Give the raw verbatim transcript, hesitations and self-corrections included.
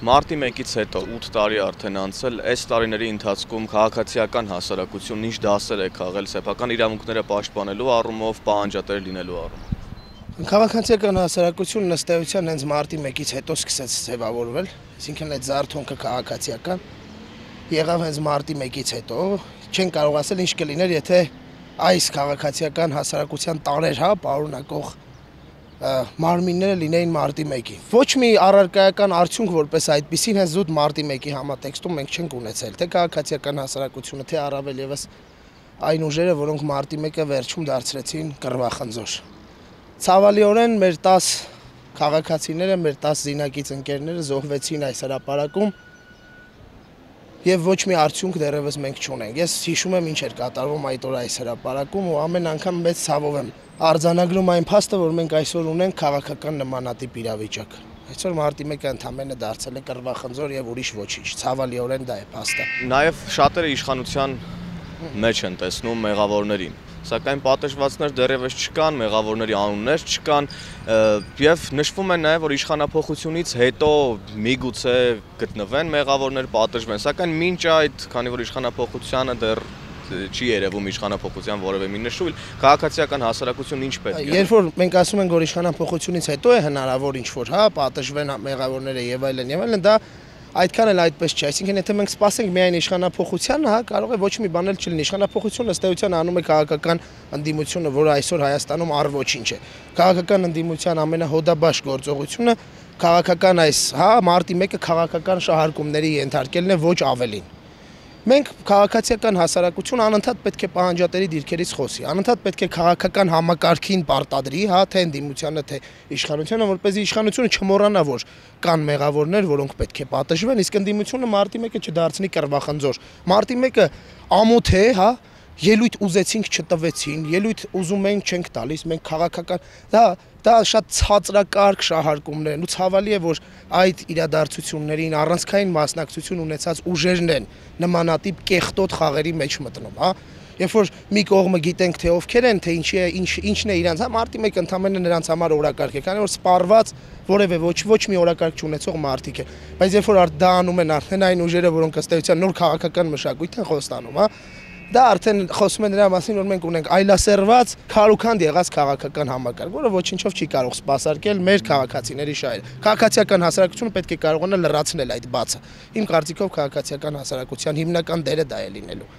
Մարտի մեկից հետո ութ տարի արդեն անցել, այս տարիների ընթացքում քաղաքացիական հասարակությունն ինչ դասեր է քաղել սեփական իրավունքները պաշտպանելու առումով, պահանջատեր լինելու առումով։ Քաղաքացիական հասարակությունն ըստ էության հենց մարտի մեկից հետո սկսեց ձևավորվել, այսինքն այդ զարթոնքը քաղաքացիական եղավ հենց մարտի մեկից հետո, չեն կարող ասել ինչ կլիներ, եթե այս քաղաքացիական հասարակության տարեր, հա, պարունակող մարմինները լինեին մարտի մեկի։ Ոչ մի առարկայական արդյունք որպես այդպիսին հենց զուտ մարտի մեկի համատեքստում մենք չենք ունեցել, թե քաղաքացիական հասարակությունը, թե առավել եւս այն ուժերը, որոնք մարտի մեկը վերջում դարձրեցին կռվախնձոր։ Ցավալիորեն մեր տաս քաղաքացիները, մեր տաս զինակից ընկերները զոհվեցին այս հրապարակում եւ ոչ մի արդյունք դեռևս մենք չունենք։ Ես հիշում եմ ինչ էր կատարվում այդ օր այս հրապարակում ու ամեն անգամ մեծ ցավով եմ արձանագրում այն փաստը, որ մենք այսօր ունենք քաղաքական նմանատիպ իրավիճակ։ Այսօր մարտի մեկը ընդամենը դարձել է կռվախնձոր եւ ուրիշ ոչինչ։ Ցավալիորեն դա է փաստը։ Նաեւ շատերը իշխանության մեջ են տեսնում մեղավորներին, սակայն պատժվածներ դեռևս չկան, մեղավորների անուններ չկան եւ նշվում է նաեւ, որ իշխանափոխությունից հետո միգուցե գտնվեն մեղավորներ, պատժվեն, սակայն մինչ այդ, քանի որ իշխանափոխությանը դեռ չի երևում իշխանափոխության որևէ մի նշույլ, քաղաքացիական հասարակությունն ինչ պետք է։ Երբ որ մենք ասում ենք, որ իշխանափոխությունից հետո է հնարավոր ինչ-որ, հա, պատժվեն մեղավորները եւ այլն եւ այլն, դա այդքան էլ այդպես չէ, այսինքն եթե մենք սպասենք միայն իշխանափոխությանը, հա, կարող է ոչ մի բան էլ չլինի։ Իշխանափոխությունը ըստ էության անում է քաղաքական ընդդիմությունը, որը այսօր Հայաստանում առ ոչինչ է։ Քաղաքական ընդդիմության ամենահոդաբաş գործողությունը քաղաքական այս, հա, մարտի մեկը քաղաքական շահարկումների ենթարկելն է, ոչ ավելին։ Մենք քաղաքացիական հասարակություն անընդհատ պետք է պահանջատերի դիրքերից խոսի, անընդհատ պետք է քաղաքական համակարգին պարտադրի, հա, թե ընդդիմությանը, թե իշխանությունը, որպեսզի իշխանությունը չմոռանա, որ կան մեղավորներ, որոնք պետք է պատժվեն, իսկ ընդդիմությունը մարտի մեկը չդարձնի կռվախնձոր։ Մարտի մեկը ամոթ է, հա, ելույթ ուզեցինք չտվեցին, ելույթ ուզում ենք չենք տալիս, մենք քաղաքական դա դա շատ ցածրակարգ շահարկումներ են ու ցավալի է, որ այդ իրադարձություններին առանցքային մասնակցություն ունեցած ուժերն են նմանատիպ կեղտոտ խաղերի մեջ մտնում, հա։ Երբ որ մի կողմը գիտենք թե ովքեր են, թե ինչի է, ինչ ինչն է իրանց, հա, մարտի մեկը ընդամենը նրանց համար օրակարգ է, քանի որ սպառված որևէ ոչ ոչ մի օրակարգ չունեցող մարտիկ է։ Բայց երբ որ դա անում են արդեն այն ուժերը, որոնք ըստ էության նոր քաղաքական մշակույթ են խոստանում, հա, դա արդեն խոսում է նրա մասին, որ մենք ունենք այլասերված քարուքանդ եղած քաղաքական համակարգ, որը ոչինչով չի կարող սպասարկել մեր քաղաքացիների շահերը։ Քաղաքացիական հասարակությունը պետք է կարողանա լրացնել այդ բացը։ Իմ կարծիքով քաղաքացիական հասարակության հիմնական դերը դա է լինելու։